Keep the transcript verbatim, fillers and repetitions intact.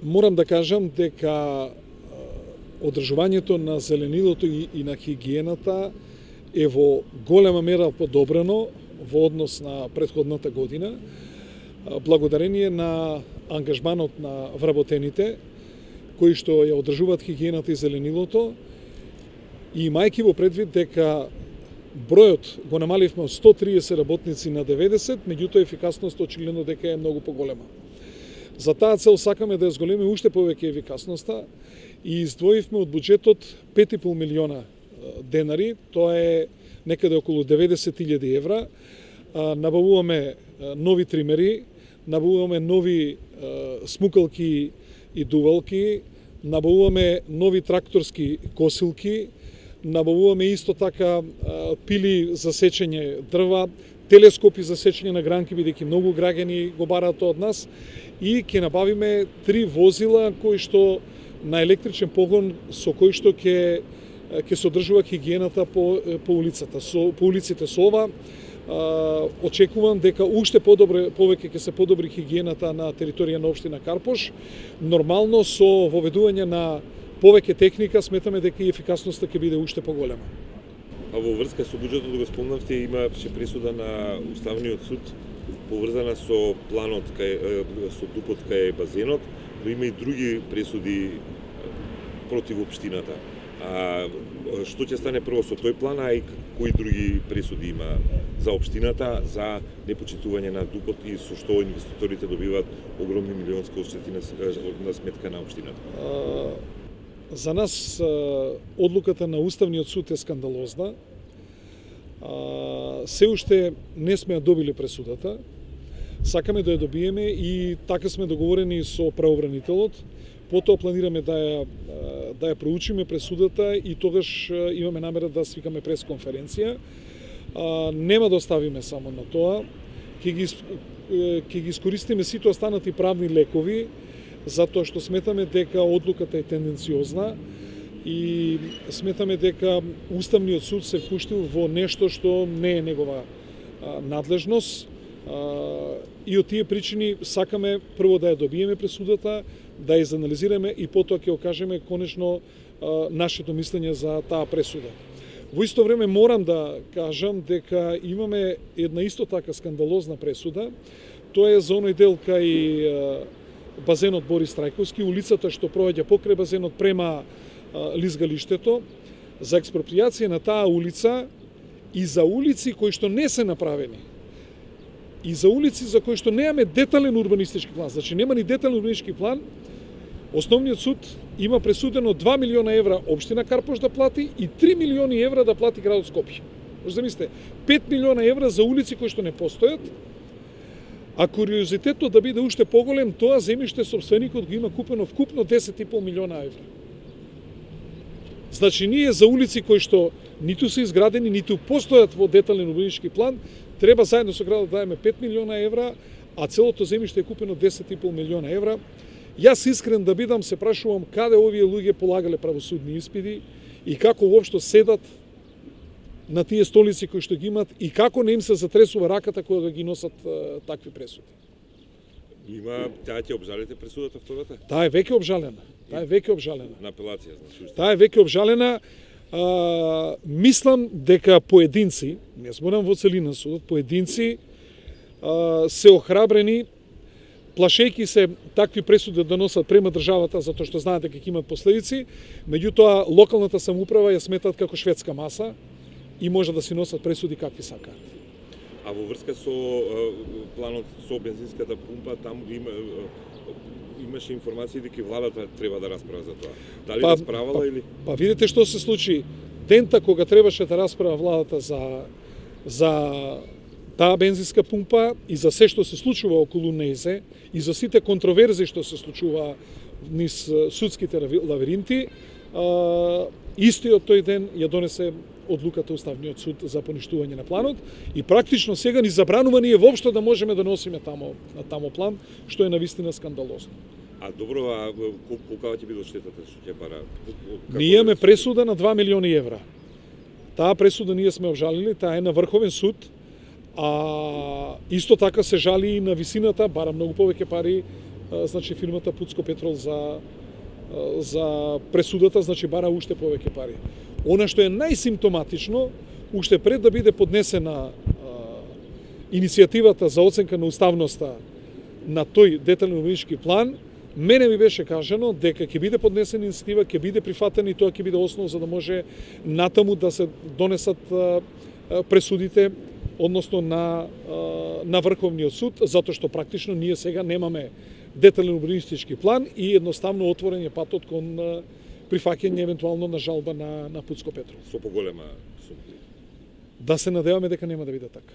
Морам да кажам дека одржувањето на зеленилото и, и на хигиената е во голема мера подобрено во однос на претходната година, благодарение на ангажманот на вработените, кои што ја одржуваат хигиената и зеленилото, и имајќи во предвид дека бројот го намаливме од сто триесет работници на деветдесет, меѓутоа ефикасноста очигледно дека е многу поголема. За таа цел сакаме да ја зголемиме уште повеќе ефикасноста и издвоивме од буџетот пет и пол милиона денари, тоа е некаде околу деветдесет илјади евра. Набавуваме нови тримери, набавуваме нови смукалки и дувалки, набавуваме нови тракторски косилки, набавуваме исто така пили за сечење дрва, телескопи за сечење на гранки, бидејќи многу граѓани го бараат од нас, и ќе набавиме три возила кои што на електричен погон со кои што ќе ќе се одржува хигиената по по улицата. Со по улиците со ова а, очекувам дека уште подобро повеќе ќе се подобри хигиената на територија на општина Карпош. Нормално со воведување на повеќе техника сметаме дека и ефикасноста ќе биде уште поголема. А во врска со буџетот го спомнавте, имаше присуда на Уставниот суд поврзана со планот кај со дупот кај базенот, но има и други пресуди против општината. А што ќе стане прво со тој план, а и кои други пресуди има за општината за непочитување на дупот и со што инвеститорите добиваат огромни милионски одштети на сметка на општината? За нас одлуката на Уставниот суд е скандалозна. Се уште не сме ја добили пресудата. Сакаме да ја добиеме и така сме договорени со правобранителот. Потоа планираме да ја да ја проучиме пресудата и тогаш имаме намера да свикаме пресконференција. Нема да оставиме само на тоа. Ќе ги ќе ги искористиме сите останати правни лекови, затоа што сметаме дека одлуката е тенденциозна и сметаме дека Уставниот суд се впуштил во нешто што не е негова а, надлежност, а, и од тие причини сакаме прво да ја добиеме пресудата, да ја изанализираме и потоа ќе окажеме конечно а, нашето мислење за таа пресуда. Во исто време морам да кажам дека имаме една исто така скандалозна пресуда. Тоа е за оној дел кај а, базенот Борис Трајковски, улицата што проаѓа покрај базенот према а, лизгалиштето, за експропријација на таа улица и за улици кои што не се направени. И за улици за кои што немаме детален урбанистички план, значи нема ни детален урбанистички план, Основниот суд има пресудено два милиона евра општина Карпош да плати и три милиони евра да плати градот Скопје. Може да мислите, пет милиона евра за улици кои што не постојат. А куриозитетот да биде уште поголем, тоа земјиште собственикот го има купено вкупно десет и пол милиона евра. Значи ние за улици кои што ниту се изградени, ниту постојат во детален урбанистички план, треба заедно со градот да даеме пет милиона евра, а целото земјиште е купено десет и пол милиона евра. Јас искрен да бидам се прашувам каде овие луѓе полагале правосудни испити и како воопшто седат на тие столици кои што ги имат и како не им се затресува раката кога ги носат а, такви пресуди. Има, таа ќе обжалите пресудата втората? Таа е веќе обжалена. Таа е веќе обжалена. На апелација, значи. Таа е веќе обжалена. А, мислам дека поединци, не зборам во целина судот, поединци а, се охрабрени, плашејќи се такви пресуди да носат према државата затоа што знаат дека ќе имат последици, меѓутоа локалната самоуправа ја сметат како шведска маса и може да си носат пресуди какви сакаат. А во врска со планот со бензинската пумпа, таму има имаше информации дека владата треба да расправа за тоа. Дали па, расправала па, или? Па видите што се случи. Дента кога требаше да расправа владата за за таа бензинска пумпа и за се што се случува околу нејзе и за сите контроверзи што се случува низ судските лавиринти, истиот тој ден ја донесе одлуката Уставниот суд за поништување на планот и практично сега ни забранува ние воопшто да можеме да носиме тамо на тамо план, што е навистина скандалозно. А добро, а колку ќе биде штетата што ќе бара? Ние имаме пресуда на два милиони евра. Таа пресуда ние сме обжалили, таа е на Врховен суд. А исто така се жали и на висината, бара многу повеќе пари, значи фирмата Пуцко Петрол за за пресудата, значи бара уште повеќе пари. Она што е најсимптоматично, уште пред да биде поднесена иницијативата за оценка на уставноста на тој детален урбанистички план, мене ми беше кажано дека ќе биде поднесена иницијатива, ќе биде прифатена и тоа ќе биде основа за да може натаму да се донесат пресудите, односно на на Врховниот суд, затоа што практично ние сега немаме детален урбанистички план и едноставно отворен е патот кон прифаќање евентуално на жалба на на Пуцко Петрол. Со поголема сума. Да се надеваме дека нема да биде така.